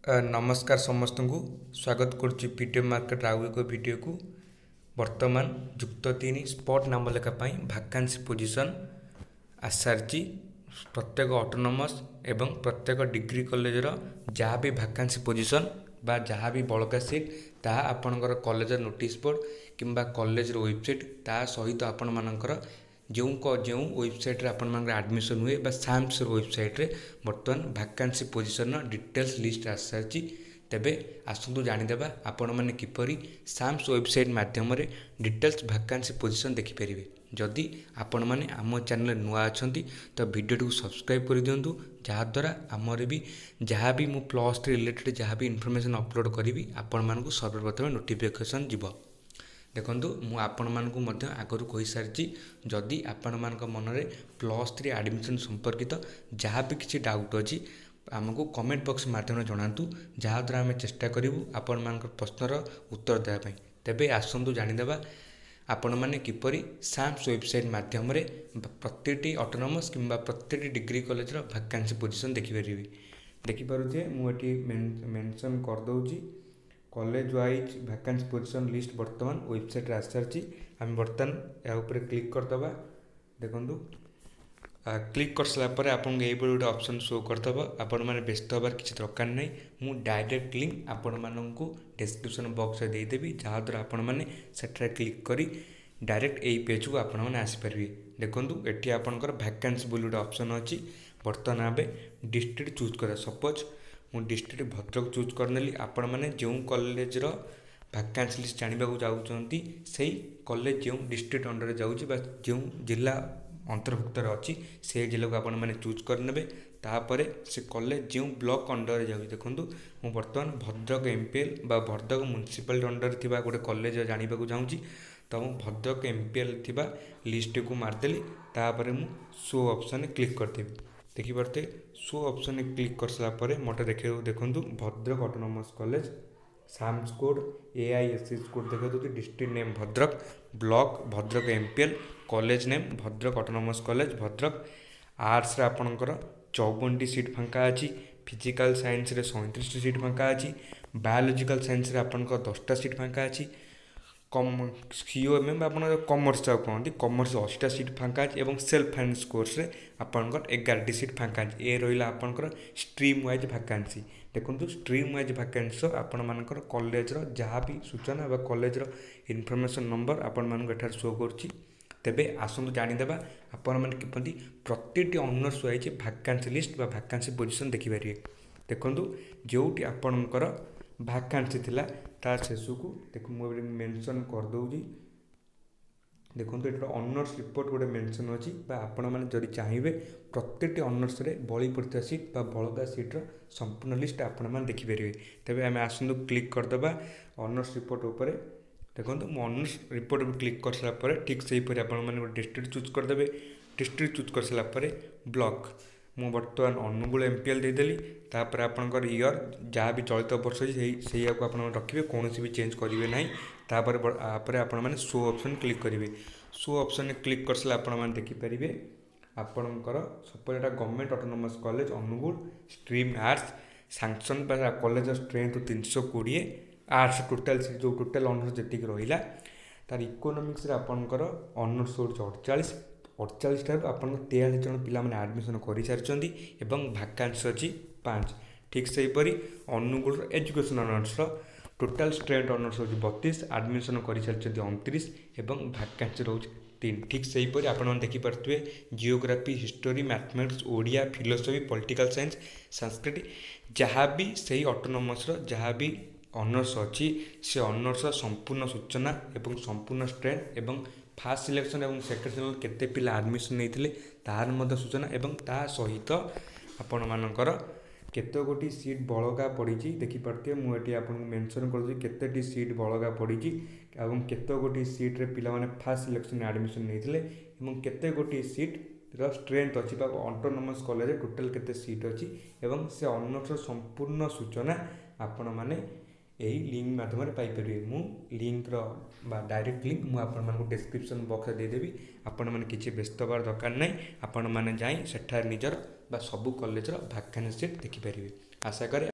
ନମସ୍କାର ସମସ୍ତଙ୍କୁ, ସ୍ୱାଗତ କରୁଛି ଭିଡ଼ିଓ ମାର୍କେଟର ଆଉ ଏକ ଭିଡ଼ିଓକୁ। ବର୍ତ୍ତମାନ ଯୁକ୍ତ 3 ସ୍ପଟ୍ ନାମଲେଖା ପାଇଁ ଭାକାନ୍ସି ପୋଜିସନ୍ ଆସିସାରିଛି। ପ୍ରତ୍ୟେକ ଅଟୋନମସ୍ ଏବଂ ପ୍ରତ୍ୟେକ ଡିଗ୍ରୀ କଲେଜର ଯାହା ବି ଭାକାନ୍ସି ପୋଜିସନ୍ ବା ଯାହା ବି ବଳକା ସିଟ୍, ତାହା ଆପଣଙ୍କର କଲେଜର ନୋଟିସ୍ ବୋର୍ଡ଼ କିମ୍ବା କଲେଜର ୱେବସାଇଟ୍, ତା ସହିତ ଆପଣମାନଙ୍କର ଯେଉଁ ଯେଉଁ ୱେବସାଇଟ୍ରେ ଆପଣମାନଙ୍କର ଆଡ଼ମିସନ୍ ହୁଏ ବା ସାମ୍ସର ୱେବସାଇଟ୍ରେ ବର୍ତ୍ତମାନ ଭାକାନ୍ସି ପୋଜିସନ୍ର ଡିଟେଲ୍ସ ଲିଷ୍ଟ ଆସିସାରିଛି। ତେବେ ଆସନ୍ତୁ ଜାଣିଦେବା ଆପଣମାନେ କିପରି ସାମ୍ସ ୱେବସାଇଟ୍ ମାଧ୍ୟମରେ ଡିଟେଲ୍ସ ଭାକାନ୍ସି ପୋଜିସନ୍ ଦେଖିପାରିବେ। ଯଦି ଆପଣମାନେ ଆମ ଚ୍ୟାନେଲରେ ନୂଆ ଅଛନ୍ତି, ତ ଭିଡ଼ିଓଟିକୁ ସବସ୍କ୍ରାଇବ୍ କରିଦିଅନ୍ତୁ, ଯାହାଦ୍ୱାରା ଆମର ବି ଯାହା ବି ମୁଁ +3 ରିଲେଟେଡ଼୍ ଯାହା ବି ଇନଫର୍ମେସନ୍ ଅପଲୋଡ଼ କରିବି, ଆପଣମାନଙ୍କୁ ସର୍ବପ୍ରଥମେ ନୋଟିଫିକେସନ୍ ଯିବ। ଦେଖନ୍ତୁ, ମୁଁ ଆପଣମାନଙ୍କୁ ମଧ୍ୟ ଆଗରୁ କହିସାରିଛି, ଯଦି ଆପଣମାନଙ୍କ ମନରେ +3 ଆଡ଼ମିସନ୍ ସମ୍ପର୍କିତ ଯାହା ବି କିଛି ଡାଉଟ୍ ଅଛି, ଆମକୁ କମେଣ୍ଟ ବକ୍ସ ମାଧ୍ୟମରେ ଜଣାନ୍ତୁ, ଯାହାଦ୍ୱାରା ଆମେ ଚେଷ୍ଟା କରିବୁ ଆପଣମାନଙ୍କ ପ୍ରଶ୍ନର ଉତ୍ତର ଦେବା ପାଇଁ। ତେବେ ଆସନ୍ତୁ ଜାଣିଦେବା ଆପଣମାନେ କିପରି ସାମ୍ସ ୱେବସାଇଟ୍ ମାଧ୍ୟମରେ ପ୍ରତିଟି ଅଟୋନମସ୍ କିମ୍ବା ପ୍ରତିଟି ଡିଗ୍ରୀ କଲେଜର ଭାକାନ୍ସି ପୋଜିସନ୍ ଦେଖିପାରିବେ। ଦେଖିପାରୁଥିବେ, ମୁଁ ଏଠି ମେନସନ୍ କରିଦେଉଛି, college wise vacancy position list ବର୍ତ୍ତମାନ ୱେବସାଇଟ୍ରେ ଆସିସାରିଛି। ଆମେ ବର୍ତ୍ତମାନ ଏହା ଉପରେ କ୍ଲିକ୍ କରିଦେବା। ଦେଖନ୍ତୁ, କ୍ଲିକ୍ କରିସାରିଲା ପରେ ଆପଣଙ୍କୁ ଏଇଭଳି ଗୋଟେ ଅପସନ୍ ଶୋ କରିଦେବ। ଆପଣମାନେ ବ୍ୟସ୍ତ ହେବାର କିଛି ଦରକାର ନାହିଁ। ମୁଁ ଡାଇରେକ୍ଟ ଲିଙ୍କ୍ ଆପଣମାନଙ୍କୁ ଡେସ୍କ୍ରିପସନ୍ ବକ୍ସରେ ଦେଇଦେବି, ଯାହାଦ୍ୱାରା ଆପଣମାନେ ସେଠାରେ କ୍ଲିକ୍ କରି ଡାଇରେକ୍ଟ ଏଇ ପେଜ୍କୁ ଆପଣମାନେ ଆସିପାରିବେ। ଦେଖନ୍ତୁ, ଏଠି ଆପଣଙ୍କର ଭ୍ୟାକାନ୍ସି ବୋଲି ଗୋଟେ ଅପସନ୍ ଅଛି। ବର୍ତ୍ତମାନ ଆମେ ଡିଷ୍ଟ୍ରିକ୍ଟ ଚୁଜ୍ କରିବା। ସପୋଜ୍ ମୁଁ ଡିଷ୍ଟ୍ରିକ୍ଟ ଭଦ୍ରକ ଚୁଜ୍ କରିନେଲି। ଆପଣମାନେ ଯେଉଁ କଲେଜର ଭାକାନ୍ସି ଲିଷ୍ଟ ଜାଣିବାକୁ ଯାଉଛନ୍ତି, ସେଇ କଲେଜ ଯେଉଁ ଡିଷ୍ଟ୍ରିକ୍ଟ ଅଣ୍ଡରରେ ଯାଉଛି ବା ଯେଉଁ ଜିଲ୍ଲା ଅନ୍ତର୍ଭୁକ୍ତରେ ଅଛି, ସେ ଜିଲ୍ଲାକୁ ଆପଣମାନେ ଚୁଜ୍ କରିନେବେ। ତାପରେ ସେ କଲେଜ ଯେଉଁ ବ୍ଲକ୍ ଅଣ୍ଡରରେ ଯାଉଛି, ଦେଖନ୍ତୁ, ମୁଁ ବର୍ତ୍ତମାନ ଭଦ୍ରକ ଏମ୍ପିଏଲ୍ ବା ଭଦ୍ରକ ମ୍ୟୁନିସିପାଲିଟି ଅଣ୍ଡରରେ ଥିବା ଗୋଟେ କଲେଜ ଜାଣିବାକୁ ଚାହୁଁଛି, ତ ମୁଁ ଭଦ୍ରକ ଏମ୍ପିଏଲ୍ ଥିବା ଲିଷ୍ଟକୁ ମାରିଦେଲି। ତାପରେ ମୁଁ ଶୋ ଅପସନ୍ରେ କ୍ଲିକ୍ କରିଦେବି। ଦେଖିପାରୁଥିବେ, ଶୋ ଅପସନ୍ରେ କ୍ଲିକ୍ କରିସାରିଲା ପରେ ମୋତେ ଦେଖେଇବ, ଦେଖନ୍ତୁ, Bhadrak autonomous college, SAMS code AISS code ଦେଖାଇ ଦେଉଛି, district name Bhadrak, block Bhadrak MPL, college name Bhadrak autonomous college Bhadrak. ଆର୍ଟ୍ସରେ ଆପଣଙ୍କର 54ଟି ସିଟ୍ ଫାଙ୍କା ଅଛି, ଫିଜିକାଲ୍ ସାଇନ୍ସରେ 37ଟି ସିଟ୍ ଫାଙ୍କା ଅଛି, ବାୟୋଲୋଜିକାଲ୍ ସାଇନ୍ସରେ ଆପଣଙ୍କର 10ଟା ସିଟ୍ ଫାଙ୍କା ଅଛି, ସିଓଏମ୍ଏମ୍ ବା ଆପଣଙ୍କର କମର୍ସ ଯାହାକୁ କହନ୍ତି, କମର୍ସ 80ଟା ସିଟ୍ ଫାଙ୍କା ଅଛି ଏବଂ ସେଲ୍ଫ ଫାଇନାନ୍ସ କୋର୍ସରେ ଆପଣଙ୍କର 11ଟି ସିଟ୍ ଫାଙ୍କା ଅଛି। ଏ ରହିଲା ଆପଣଙ୍କର ଷ୍ଟ୍ରିମ୍ ୱାଇଜ୍ ଭାକାନ୍ସି। ଦେଖନ୍ତୁ, ଷ୍ଟ୍ରିମ୍ ୱାଇଜ୍ ଭାକାନ୍ସି ଆପଣମାନଙ୍କର କଲେଜର ଯାହା ବି ସୂଚନା ବା କଲେଜର ଇନଫର୍ମେସନ୍ ନମ୍ବର ଆପଣମାନଙ୍କୁ ଏଠାରେ ଶୋ କରୁଛି। ତେବେ ଆସନ୍ତୁ ଜାଣିଦେବା ଆପଣମାନେ କିପରି ପ୍ରତିଟି ଅନର୍ସ ୱାଇଜ୍ ଭାକାନ୍ସି ଲିଷ୍ଟ ବା ଭାକାନ୍ସି ପୋଜିସନ୍ ଦେଖିପାରିବେ। ଦେଖନ୍ତୁ, ଯେଉଁଠି ଆପଣଙ୍କର ଭାକାନ୍ସି ଥିଲା, ତା ଶେଷକୁ ଦେଖ, ମୁଁ ଏବେ ମେନସନ୍ କରିଦେଉଛି। ଦେଖନ୍ତୁ, ଏଠି ଅନର୍ସ ରିପୋର୍ଟ ଗୋଟେ ମେନସନ୍ ଅଛି ବା ଆପଣମାନେ ଯଦି ଚାହିଁବେ, ପ୍ରତ୍ୟେକଟି ଅନର୍ସରେ ବଳି ପଡ଼ିଥିବା ସିଟ୍ ବା ବଳକା ସିଟ୍ର ସମ୍ପୂର୍ଣ୍ଣ ଲିଷ୍ଟ ଆପଣମାନେ ଦେଖିପାରିବେ। ତେବେ ଆମେ ଆସନ୍ତୁ କ୍ଲିକ୍ କରିଦେବା ଅନର୍ସ ରିପୋର୍ଟ ଉପରେ। ଦେଖନ୍ତୁ, ମୁଁ ଅନର୍ସ ରିପୋର୍ଟ ଉପରେ କ୍ଲିକ୍ କରିସାରିଲା ପରେ ଠିକ୍ ସେହିପରି ଆପଣମାନେ ଗୋଟେ ଡିଷ୍ଟ୍ରିକ୍ଟ ଚୁଜ୍ କରିଦେବେ। ଡିଷ୍ଟ୍ରିକ୍ଟ ଚୁଜ୍ କରିସାରିଲା ପରେ ବ୍ଲକ୍, ମୁଁ ବର୍ତ୍ତମାନ ଅନୁଗୁଳ ଏମ୍ପିଏଲ୍ ଦେଇଦେଲି। ତାପରେ ଆପଣଙ୍କର ଇୟର୍ ଯାହା ବି ଚଳିତ ବର୍ଷ ଅଛି, ସେଇଆକୁ ଆପଣ ରଖିବେ, କୌଣସି ବି ଚେଞ୍ଜ କରିବେ ନାହିଁ। ତାପରେ ତାପରେ ଆପଣମାନେ ଶୋ ଅପସନ୍ କ୍ଲିକ୍ କରିବେ। ଶୋ ଅପସନ୍ରେ କ୍ଲିକ୍ କରିସାରିଲେ ଆପଣମାନେ ଦେଖିପାରିବେ, ଆପଣଙ୍କର ସପୋଜ୍ ଏଇଟା government autonomous college Angul, stream arts, sanction ବା କଲେଜର ଷ୍ଟ୍ରେନ୍ଥ 320, ଆର୍ଟ୍ସ ଟୋଟାଲ୍ ଯେଉଁ ଟୋଟାଲ୍ ଅନର୍ସ ଯେତିକି ରହିଲା, ତାର ଇକୋନୋମିକ୍ସରେ ଆପଣଙ୍କର ଅନର୍ସ ହେଉଛି 48। 48ଠାରୁ ଆପଣଙ୍କ 43 ଜଣ ପିଲାମାନେ ଆଡ଼ମିସନ୍ କରିସାରିଛନ୍ତି ଏବଂ ଭାକାନ୍ସି ଅଛି 5। ଠିକ୍ ସେହିପରି ଅନୁଗୁଳର ଏଜୁକେସନ୍ ଅନର୍ସର ଟୋଟାଲ୍ ଷ୍ଟ୍ରେନ୍ଥ ଅନର୍ସ ହେଉଛି 32, ଆଡ଼ମିସନ୍ କରିସାରିଛନ୍ତି 29 ଏବଂ ଭାକାନ୍ସି ରହୁଛି 3। ଠିକ୍ ସେହିପରି ଆପଣମାନେ ଦେଖିପାରୁଥିବେ, geography, history, mathematics, Odia, philosophy, political science, Sanskrit, ଯାହା ବି ସେଇ ଅଟୋନମସ୍ର ଯାହା ବି ଅନର୍ସ ଅଛି, ସେ ଅନର୍ସର ସମ୍ପୂର୍ଣ୍ଣ ସୂଚନା ଏବଂ ସମ୍ପୂର୍ଣ୍ଣ ଷ୍ଟ୍ରେନ୍ଥ ଏବଂ ଫାର୍ଷ୍ଟ ସିଲେକ୍ସନ୍ ଏବଂ ସେକେଣ୍ଡ ସିଲେକ୍ସନ୍ କେତେ ପିଲା ଆଡ଼ମିସନ୍ ନେଇଥିଲେ, ତାହାର ମଧ୍ୟ ସୂଚନା ଏବଂ ତା ସହିତ ଆପଣମାନଙ୍କର କେତେ ଗୋଟି ସିଟ୍ ବଳକା ପଡ଼ିଛି ଦେଖିପାରୁଥିବେ। ମୁଁ ଏଠି ଆପଣଙ୍କୁ ମେନସନ୍ କରୁଛି କେତେଟି ସିଟ୍ ବଳକା ପଡ଼ିଛି ଏବଂ କେତେ ଗୋଟି ସିଟ୍ରେ ପିଲାମାନେ ଫାର୍ଷ୍ଟ ସିଲେକ୍ସନ୍ରେ ଆଡ଼ମିସନ୍ ନେଇଥିଲେ ଏବଂ କେତେ ଗୋଟି ସିଟ୍ର ଷ୍ଟ୍ରେନ୍ଥ ଅଛି ବା ଅଟୋନମସ୍ କଲେଜରେ ଟୋଟାଲ୍ କେତେ ସିଟ୍ ଅଛି ଏବଂ ସେ ଅନର୍ସର ସମ୍ପୂର୍ଣ୍ଣ ସୂଚନା ଆପଣମାନେ ଏହି ଲିଙ୍କ୍ ମାଧ୍ୟମରେ ପାଇପାରିବେ। ମୁଁ ଲିଙ୍କ୍ର ବା ଡାଇରେକ୍ଟ ଲିଙ୍କ୍ ମୁଁ ଆପଣମାନଙ୍କୁ ଡେସ୍କ୍ରିପସନ୍ ବକ୍ସରେ ଦେଇଦେବି। ଆପଣମାନେ କିଛି ବ୍ୟସ୍ତ ହେବାର ଦରକାର ନାହିଁ। ଆପଣମାନେ ଯାଇ ସେଠାରେ ନିଜର ବା ସବୁ କଲେଜର ଭାକାନ୍ସି ସିଟ୍ ଦେଖିପାରିବେ। ଆଶା କରେ